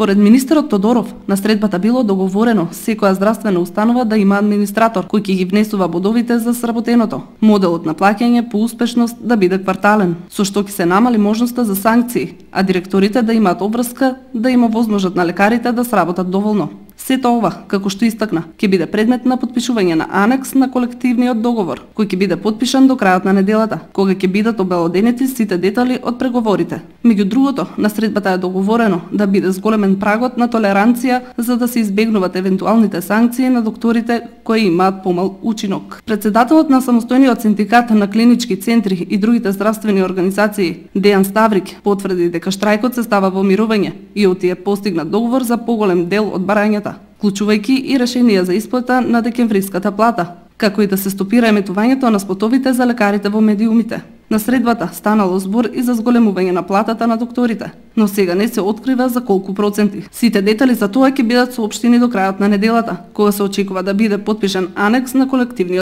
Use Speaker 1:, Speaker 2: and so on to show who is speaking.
Speaker 1: Според министерот Тодоров, на средбата било договорено секоја здравствена установа да има администратор кој ќе ги внесува бодовите за сработеното. Моделот на плаќање по успешност да биде квартален, со што ќе се намали можноста за санкции, а директорите да имаат обврска да им овозможат на лекарите да сработат доволно. Сето ова, како што истакна, ќе биде предмет на потпишување на анекс на колективниот договор, кој ќе биде потпишан до крајот на неделата, кога ќе бидат обелоденети сите детали од преговорите. Меѓу другото, на средбата е договорено да биде зголемен прагот на толеранција за да се избегнуваат евентуалните санкции на докторите кои имаат помал учинок. Председателот на самостојниот синдикат на клинички центри и другите здравствени организации, Дејан Ставрик, потврди дека штрајкот се става во мирување и оти е постигнат договор за поголем дел од барањата, вклучувајќи и решенија за исплата на декемвриската плата, како и да се стопира еметувањето на спотовите за лекарите во медиумите. На средбата станало збор и за зголемување на платата на докторите, но сега не се открива за колку проценти. Сите детали за тоа ќе бидат соопштени до крајот на неделата, кога се очекува да биде потпишан анекс на колективниот